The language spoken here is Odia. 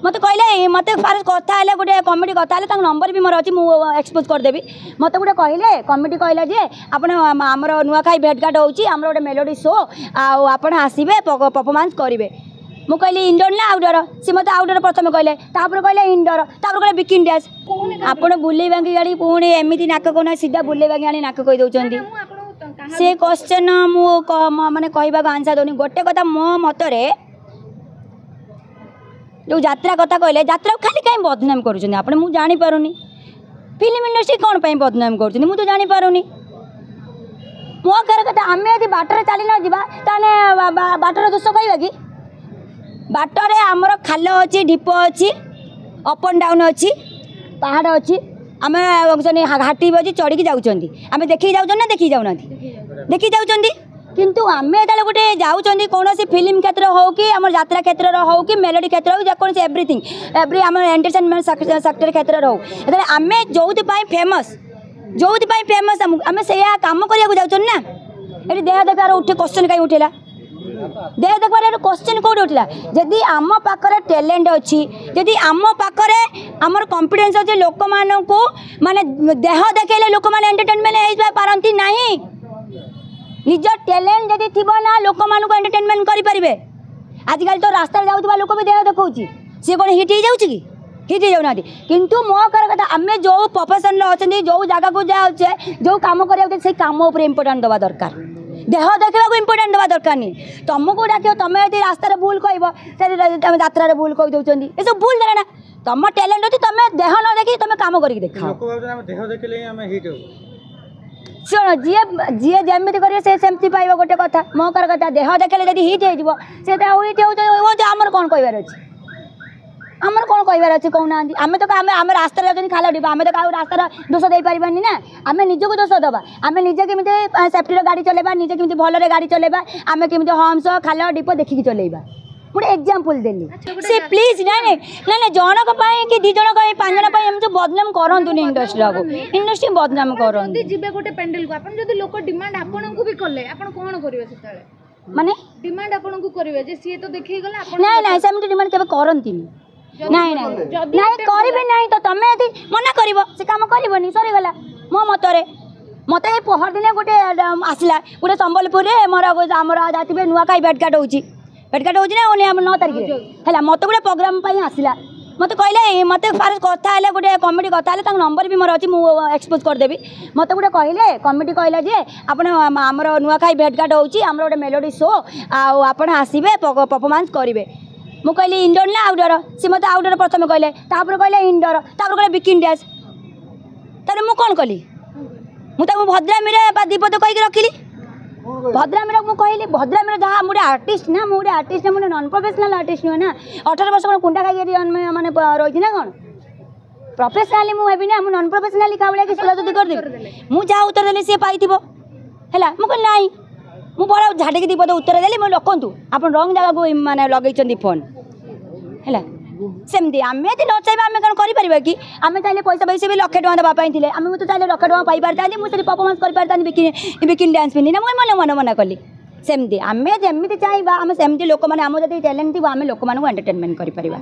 ମୋତେ କହିଲେ, ମୋତେ ଫାଷ୍ଟ କଥା ହେଲେ, ଗୋଟେ କମିଟି କଥା ହେଲେ। ତାଙ୍କ ନମ୍ବର ବି ମୋର ଅଛି, ମୁଁ ଏକ୍ସପୋଜ୍ କରିଦେବି। ମୋତେ ଗୋଟେ କହିଲେ, କମିଟି କହିଲା ଯେ ଆପଣ ଆମର ନୂଆଖାଇ ଭେଟଘାଟ ହେଉଛି, ଆମର ଗୋଟେ ମେଲୋଡ଼ି ଶୋ, ଆଉ ଆପଣ ଆସିବେ, ପରଫର୍ମାନ୍ସ କରିବେ। ମୁଁ କହିଲି ଇନଡୋର ନା ଆଉଟଡୋର? ସେ ମୋତେ ଆଉଟଡୋର ପ୍ରଥମେ କହିଲେ, ତାପରେ କହିଲେ ଇନଡୋର, ତାପରେ କହିଲେ ବିକିନି ଡ୍ୟାନ୍ସ। ଆପଣ ବୁଲେଇ ବାଙ୍କି ଗାଡ଼ି ପୁଣି ଏମିତି ନାକ କହୁନା, ସିଧା ବୁଲେଇ ବାଙ୍କି ଆଣି ନାକ କହିଦେଉଛନ୍ତି। ସେ କ୍ୱେଶ୍ଚନ୍ ମୁଁ ମାନେ କହିବାକୁ ଆନ୍ସର୍ ଦେଉନି। ଗୋଟେ କଥା, ମୋ ମତରେ ଯେଉଁ ଯାତ୍ରା କଥା କହିଲେ, ଯାତ୍ରାକୁ ଖାଲି କାହିଁ ବଦନାମ କରୁଛନ୍ତି ଆପଣ? ମୁଁ ଜାଣିପାରୁନି। ଫିଲ୍ମ ଇଣ୍ଡଷ୍ଟ୍ରି କ'ଣ ପାଇଁ ବଦନାମ କରୁଛନ୍ତି, ମୁଁ ତ ଜାଣିପାରୁନି। ମୋ କହିବା କଥା, ଆମେ ଯଦି ବାଟରେ ଚାଲି ନ ଯିବା, ତାହେଲେ ବାଟର ଦୋଷ କହିବା କି? ବାଟରେ ଆମର ଖାଲ ଅଛି, ଢିପ ଅଛି, ଅପ୍ ଆଣ୍ଡ ଡାଉନ୍ ଅଛି, ପାହାଡ଼ ଅଛି, ଆମେ ଘାଟି ବି ଅଛି, ଚଢ଼ିକି ଯାଉଛନ୍ତି। ଆମେ ଦେଖିକି ଯାଉଛନ୍ତି ନା ଦେଖିକି ଯାଉନାହାନ୍ତି? ଦେଖିକି ଯାଉଛନ୍ତି। କିନ୍ତୁ ଆମେ ଯେତେବେଳେ ଗୋଟେ ଯାଉଛନ୍ତି, କୌଣସି ଫିଲ୍ମ କ୍ଷେତ୍ର ହେଉ କି ଆମର ଯାତ୍ରା କ୍ଷେତ୍ରର ହେଉ କି ମେଲୋଡ଼ି କ୍ଷେତ୍ର ହେଉ, ଯେକୌଣସି ଏଭ୍ରିଥିଙ୍ଗ ଏଭ୍ରି ଆମର ଏଣ୍ଟରଟେନମେଣ୍ଟ ସେକ୍ଟର କ୍ଷେତ୍ରରେ ହେଉ, ଯେତେବେଳେ ଆମେ ଯେଉଁଥିପାଇଁ ଫେମସ୍, ଯେଉଁଥିପାଇଁ ଫେମସ୍, ଆମକୁ ଆମେ ସେଇଆ କାମ କରିବାକୁ ଯାଉଛନ୍ତି ନା। ଏଠି ଦେହ ଦେଖିବାର ଉଠି କ୍ୱେଶ୍ଚନ୍ କାହିଁ ଉଠିଲା? ଦେହ ଦେଖିବାର କ୍ୱେଶ୍ଚନ୍ କେଉଁଠି ଉଠିଲା? ଯଦି ଆମ ପାଖରେ ଟ୍ୟାଲେଣ୍ଟ ଅଛି, ଯଦି ଆମ ପାଖରେ ଆମର କନଫିଡେନ୍ସ ଅଛି, ଲୋକମାନଙ୍କୁ ମାନେ ଦେହ ଦେଖେଇଲେ ଲୋକମାନେ ଏଣ୍ଟରଟେନମେଣ୍ଟ ହେଇପାରନ୍ତି ନାହିଁ। ନିଜ ଟ୍ୟାଲେଣ୍ଟ ଯଦି ଥିବ ନା, ଲୋକମାନଙ୍କୁ ଏଣ୍ଟରଟେନମେଣ୍ଟ କରିପାରିବେ। ଆଜିକାଲି ତ ରାସ୍ତାରେ ଯାଉଥିବା ଲୋକ ବି ଦେହ ଦେଖାଉଛି, ସିଏ କ'ଣ ହିଟ୍ ହେଇଯାଉଛି କି? ହିଟ୍ ହେଇଯାଉନାହାନ୍ତି। କିନ୍ତୁ ମୋ କହିବା କଥା, ଆମେ ଯେଉଁ ପ୍ରଫେସନରେ ଅଛନ୍ତି, ଯେଉଁ ଜାଗାକୁ ଯାଉଛେ, ଯେଉଁ କାମ କରିବାକୁ, ସେଇ କାମ ଉପରେ ଇମ୍ପୋର୍ଟାଣ୍ଟ ଦେବା ଦରକାର। ଦେହ ଦେଖିବାକୁ ଇମ୍ପୋର୍ଟାଣ୍ଟ ଦେବା ଦରକାର ନି। ତମକୁ ଡାକିବ, ତମେ ଯଦି ରାସ୍ତାରେ ଭୁଲ କହିବ, ସେଠି ତମେ ଯାତ୍ରାରେ ଭୁଲ କହିଦେଉଛନ୍ତି। ଏସବୁ ଭୁଲ ଧାରଣା। ତମ ଟ୍ୟାଲେଣ୍ଟ ଅଛି, ତମେ ଦେହ ନ ଦେଖି ତମେ କାମ କରିକି ଦେଖାଅ। ଶୁଣ, ଯିଏ ଯିଏ ଯେମିତି କରିବେ ସେ ସେମିତି ପାଇବ। ଗୋଟେ କଥା, ମୋ କହିବା କଥା, ଦେହ ଦେଖିଲେ ଯଦି ହିଟ୍ ହେଇଯିବ, ସେ ତ ଆଉ ହିଟ୍ ହେଉଛି। ଆମର କ'ଣ କହିବାର ଅଛି? ଆମର କ'ଣ କହିବାର ଅଛି କହୁନାହାନ୍ତି? ଆମେ ତ ଆମେ ଆମେ ରାସ୍ତାରେ ଯାଉଛନ୍ତି, ଖାଲ ଢିପ, ଆମେ ତ କାହାକୁ ରାସ୍ତାର ଦୋଷ ଦେଇପାରିବାନି ନା। ଆମେ ନିଜକୁ ଦୋଷ ଦେବା। ଆମେ ନିଜେ କେମିତି ସେଫ୍ଟିର ଗାଡ଼ି ଚଲେଇବା, ନିଜେ କେମିତି ଭଲରେ ଗାଡ଼ି ଚଲେଇବା, ଆମେ କେମିତି ହମ୍ସ, ଖାଲ ଢିପ ଦେଖିକି ଚଲେଇବା। ଗୋଟେ ଏକ୍ଜାମ୍ପଲ୍ ଦେଲି ସେ। ପ୍ଲିଜ୍, ନାଇଁ ନାଇଁ ନାଇଁ ନାଇଁ, ଜଣଙ୍କ ପାଇଁ କି 2 ଜଣଙ୍କ ପାଇଁ, 5 ଜଣ ପାଇଁ ଏମିତି ବଦନାମ କରନ୍ତୁନି ଇଣ୍ଡଷ୍ଟ୍ରିକୁ, ଇଣ୍ଡଷ୍ଟ୍ରି ବଦନାମ କରନ୍ତୁ। ଯିବେ ଗୋଟେ ପେଣ୍ଡେଲକୁ ଆପଣ, ଯଦି ଲୋକ ଡିମାଣ୍ଡ ଆପଣଙ୍କୁ ବି କଲେ, ଆପଣ କ'ଣ କରିବେ ସେତେବେଳେ? ମାନେ ଡିମାଣ୍ଡ ଆପଣଙ୍କୁ କରିବେ ଯେ ସିଏ ତ ଦେଖେଇ ଗଲା, ଆପଣ? ନାଇଁ ନାଇଁ, ସେମିତି ଡିମାଣ୍ଡ କେବେ କରନ୍ତିନି। ନାଇଁ ନାଇଁ ନାଇଁ, କରିବେ ନାହିଁ ତ। ତମେ ଯଦି ମନା କରିବ, ସେ କାମ କରିବନି, ସରିଗଲା। ମୋ ମତରେ ମୋତେ ଏଇ ପହରଦିନେ ଗୋଟେ ଆସିଲା, ଗୋଟେ ସମ୍ବଲପୁରରେ ମୋର ଆମର ଜାତିବେ ନୂଆଖାଇ ଭେଟଘାଟ ହେଉଛି, ଭେଟଘାଟ ହେଉଛି ନା ଓନ୍ଲି ଆମ 9 ତାରିଖରେ ହେଲା। ମୋତେ ଗୋଟେ ପ୍ରୋଗ୍ରାମ୍ ପାଇଁ ଆସିଲା। ମୋତେ କହିଲେ, ମୋତେ ଫାଷ୍ଟ କଥା ହେଲେ, ଗୋଟେ କମିଟି କଥା ହେଲେ। ତାଙ୍କ ନମ୍ବର ବି ମୋର ଅଛି, ମୁଁ ଏକ୍ସପୋଜ୍ କରିଦେବି। ମୋତେ ଗୋଟେ କହିଲେ, କମିଟି କହିଲା ଯେ ଆପଣ ଆମର ନୂଆଖାଇ ଭେଟଘାଟ ହେଉଛି, ଆମର ଗୋଟେ ମେଲୋଡ଼ି ଶୋ, ଆଉ ଆପଣ ଆସିବେ, ପରଫର୍ମାନ୍ସ କରିବେ। ମୁଁ କହିଲି ଇନଡୋର ନା ଆଉଟଡୋର? ସେ ମୋତେ ଆଉଟଡୋର ପ୍ରଥମେ କହିଲେ, ତାପରେ କହିଲେ ଇନଡୋର, ତାପରେ କହିଲେ ବିକିନି ଡ୍ୟାନ୍ସ। ତାପରେ ମୁଁ କ'ଣ କଲି? ମୁଁ ତାକୁ ଭଦ୍ରାମିରେ ବା 2 ପଦ କହିକି ରଖିଲି। ଭଦ୍ରାମିର ମୁଁ କହିଲି, ଭଦ୍ରାମିର ଯାହା, ମୁଁ ଗୋଟେ ଆର୍ଟିଷ୍ଟ ନା, ମୁଁ ଗୋଟେ ଆର୍ଟିଷ୍ଟ ନା, ମୁଁ ନନ୍ ପ୍ରଫେସନାଲ୍ ଆର୍ଟିଷ୍ଟ ନୁହେଁ ନା। 18 ବର୍ଷ କ'ଣ କୁଣ୍ଡା ଖାଇକି ମାନେ ରହିଛି ନା କ'ଣ? ପ୍ରଫେସନାଲି ମୁଁ ହେବି ନା, ମୁଁ ନନ୍ ପ୍ରଫେସନାଲି କାହା ଭଳିଆ କି ସୁଧାସୁଧି କରିଦେବି? ମୁଁ ଯାହା ଉତ୍ତର ଦେଲି ସିଏ ପାଇଥିବ। ହେଲା, ମୁଁ କହିଲି ନାଇଁ, ମୁଁ ବଡ଼ ଝାଡ଼ିକି 2 ପଦ ଉତ୍ତର ଦେଲି। ମୁଁ ରଖନ୍ତୁ, ଆପଣ ରଙ୍ଗ ଜାଗାକୁ ମାନେ ଲଗେଇଛନ୍ତି ଫୋନ୍। ହେଲା, ସେମିତି ଆମେ ଯଦି ନ ଚାହିଁବା, ଆମେ କ'ଣ କରିପାରିବା କି? ଆମେ ଚାହିଁଲେ ପଇସା ପଇସା ବି ଲକ୍ଷେ ଟଙ୍କା ଦେବା ପାଇଁ ଥିଲେ, ଆମେ ତ ଚାହିଁଲେ ଲକ୍ଷେ ଟଙ୍କା ପାଇପାରିଥାନ୍ତି, ମୁଁ ସେଠି ପରଫର୍ମାନ୍ସ କରିପାରିଥାନ୍ତି ବିକିନି ଡ୍ୟାନ୍ସ ପିନ୍ଧି ନା। ମୁଁ ମନେ ମନେ ମନା କଲି। ସେମିତି ଆମେ ଯେମିତି ଚାହିଁବା, ଆମେ ସେମିତି ଲୋକମାନେ, ଆମ ଯଦି ଟ୍ୟାଲେଣ୍ଟ ଥିବ, ଆମେ ଲୋକମାନଙ୍କୁ ଏଣ୍ଟରଟେନମେଣ୍ଟ କରିପାରିବା।